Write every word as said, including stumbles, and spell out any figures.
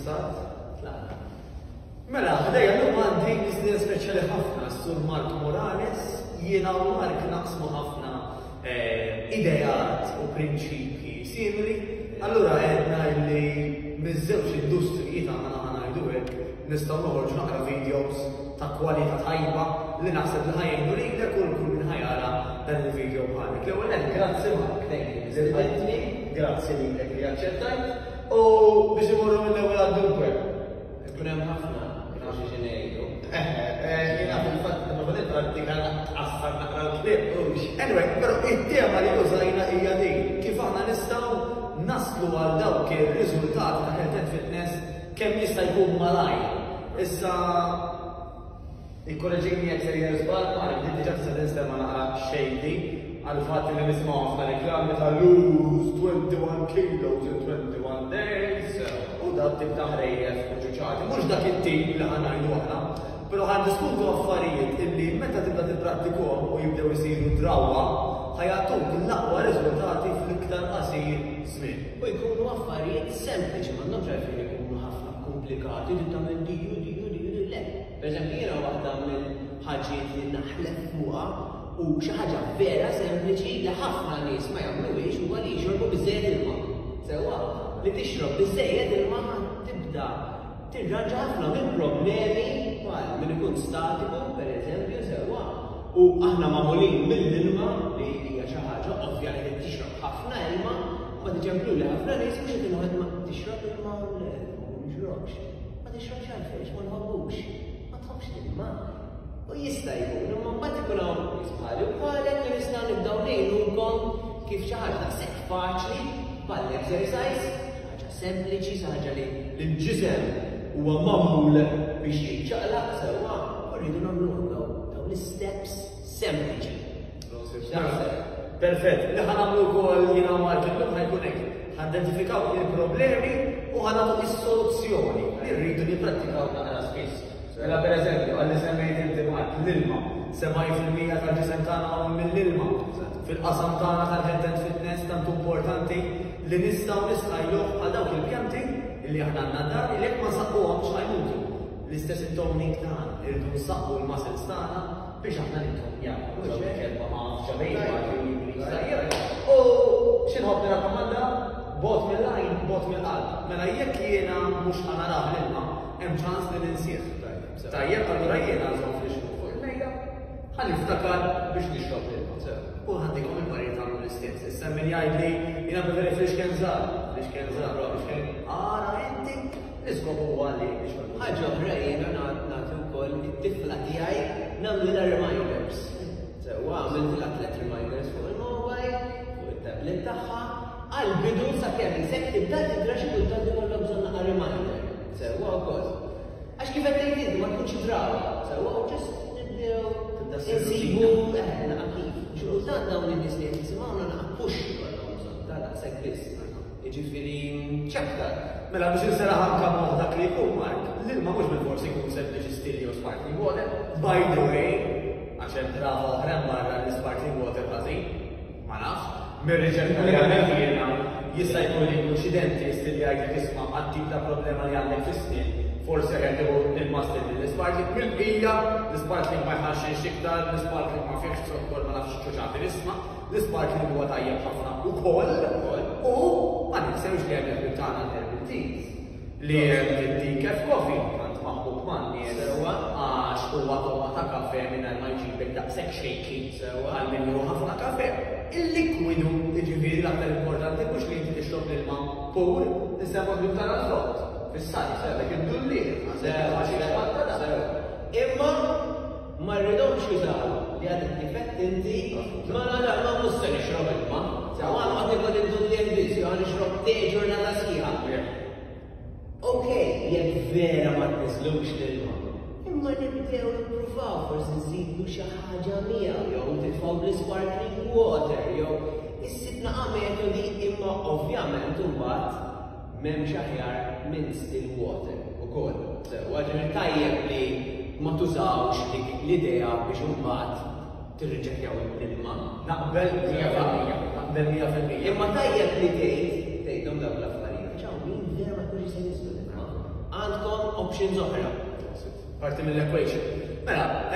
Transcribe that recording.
Stat. Tlaqna. Mela, ħdejja llum għandi mistieden speċjali ħafna, Sur Mark Morales. Jiena u Mark naqsmu ħafna eh, ideat u prinċipji simili. Allura għedna li miż-żewġ industriji tagħna, ħa ngħidu hekk, nistgħu noħorġu naqra videos ta' kwalità tajba li naħseb li ħa jgħinu lilek u kull min ħa jara dan il-video bħalek. L-ewwel nett, grazzi Mark, Thank you. Lilqajtni, grazzi lilek li aċċettajt. U biex imorru mill-ewwel għad-dunque. Ikun hemm ħafna xi xi ngħidu. Eh, eh, jiena fil-fatt ma kont prattika tqassar naqra l-kliem. Anyway, però it-tema li użajna hija din, kif aħna nistgħu naslu għal dawk ir-riżultati ta' health and fitness kemm jista' jkun malajr. Issa ikkoreġini jekk sejjer żball, Mark, din diġà tista' tinstema' naqra shady għal fatt li nismgħu ħafna reklami ta' "lose twenty-one kilos in twenty-one days" u dak tip ta' ħrejjef u ċuċati. Mhux dak it-tip li ħa ngħidu aħna, però ħa ndiskutu affarijiet illi meta tibda tipprattikhom u jibdew isiru drawwa, ħa jagħtuk l-aqwa riżultati fl-iktar qasir żmien. U jkunu affarijiet sempliċi, m'għandhomx għalfejn ikunu ħafna komplikati, li tagħmel di u di u di u di, le. Per eżempju, jiena waħda mill-ħaġiet li naħlef fuqha u xi ħaġa vera sempliċi li ħafna nies ma jagħmluhiex huwa li jixorbu biżejjed ilma. Sewwa, li tixrob biżejjed ilma tibda tirranġa ħafna mill-problemi bħal min ikun statiku, per eżempju, sewwa. U aħna magħmulin mill-ilma, li hija xi ħaġa ovvja li tixrob ħafna ilma, ma tiġemplu li ħafna nies mhux qed inħodd ma tixrob ilma, le, ma nixrobx. Ma tixrobx għalfejn? Ma nħobbux. Ma tħobbx l-ilma. U jista' jkun, imma mbagħad ikun hawn nies bħali u bħalek li nistgħu nibdew ngħinukom kif xi ħaġa daqshekk faċli bħall-exercise, xi ħaġa sempliċi, xi ħaġa li l-ġisem huwa magħmul biex jiċċaqlaq, sewwa, u rridu nagħmluhom daw dawn l-steps sempliċi. X'taħseb? Perfett, li ħa nagħmlu wkoll jiena u Mark illum ħa jkun hekk. Ħa nidentifikaw il-problemi u ħa nagħtu is-soluzzjoni li rridu nipprattikaw naqra spiss. Mela, per eżempju, għalli semmejt inti Mark, l-ilma, sebgħin fil-mija tal-ġisem tagħna magħmul mill-ilma. Fil-qasam tagħna tal-health and fitness tant importanti li nistgħu nistħajluh għal dawk il-pjanti li aħna għandna dar li jekk ma nsaqquhomx ħa jmutu. L-istess it-toning tagħna, irridu nsaqqu l-muscles tagħna biex aħna nittonjaw. Kelma ma ġabejn. U x'inħobb nirrakkomanda? Bogħod mill-għajn, bogħod mill-qalb. Mela jekk jiena mhux ħa narah l-ilma, hemm ċans li ninsih. Tajjeb, allura jiena nżomm flixkun fuq il-mejda, ħa niftakar biex nixrob l-ilma. U ħa nagħtikom il-parir tagħmlu l-istess. Issa min jgħid li jiena preferi flixken żgħar, flixken żgħar, flixken ara inti, l-iskop huwa li nixrob. Ħaġa oħra, jiena nagħti wkoll it-tifla tiegħi nagħmlilha reminders. Sewwa, għamiltilha tliet reminders fuq il-mobile, fuq it-tablet tagħha, għal-bidu sakemm isek tibda tidra, xi kultant ikollok bżonn naqra reminder. Sewwa wkoll. Għax kif qed tgħid inti, ma tkunx drawa. Sewwa, u just nibdew Tibda ssir insibu eh naqa kif. U xi kultant dawn in-nies li qed jisimgħuna naqa push ikollhom bżonn ta' daqshekk biss. Jiġifieri ċaktar. Mela biex inseraħ anka moħħ dak li jkun, Mark, l-ilma mhux bil-forsi jkun sempliċi still jew sparkling water. By the way, għax hemm drawa oħra barra li sparkling water ħażin, ma nafx, mir-riċerka li għamilt jiena, jista' jkun li jkun xi dentist li jgħidlek, "Isma', għat-tip ta' problema li għandek fis-snien, forsi qed tieħu ilma still mill-sparkling." Mill-bqija, l-sparkling ma jħaxxinx iktar, l-sparkling ma fihx zokkor, ma nafx ċuċati nisma', l-sparkling huwa tajjeb ħafna ukoll, u ma ninsewx li hemm il-ħbib tagħna l-herbal teas, li hemm id-decaf coffee, tant maħbub man-nies, Sewwa. għax huwa togħma ta' kafe mingħajr ma jġibek daqshekk shaky Sewwa. għal min jieħu ħafna kafe. Il-likwidu, jiġifieri l-aktar importanti mhux li inti tixrob l-ilma pur, nisemgħu ħbib tagħna l-frott. Fis-sajf, għandek id-dulliegħ, għandek il-ħaxix ħatta da. Imma ma rridhomx jużaw li għadek kif għedt inti, ma la ma mhux se nixrob ilma. Sewwa, noqgħod nikol id-dulliegħ biss, jew nixrob te ġurnata sħiħa. Ok, jekk vera ma tniżlux l-ilma. Imma nibdew nippruvaw forsi nżidu xi ħaġa miegħu, jew titfgħu bl-sparkling water, jew issib naqa metodi, imma ovvjament imbagħad m'hemmx aħjar minn still water ukoll. Sewwa, ġifieri tajjeb li ma tużawx dik l-idea biex imbagħad tirriġettjaw l-ilma. Naqbel mija fil-mija, naqbel mija fil-mija. Imma tajjeb li tgħid tgħidhom dawk l-affarijiet. Ċaw, min vera ma jkunx jista' jniżlu l-ilma. options oħra. Parti mill-equation. Mela,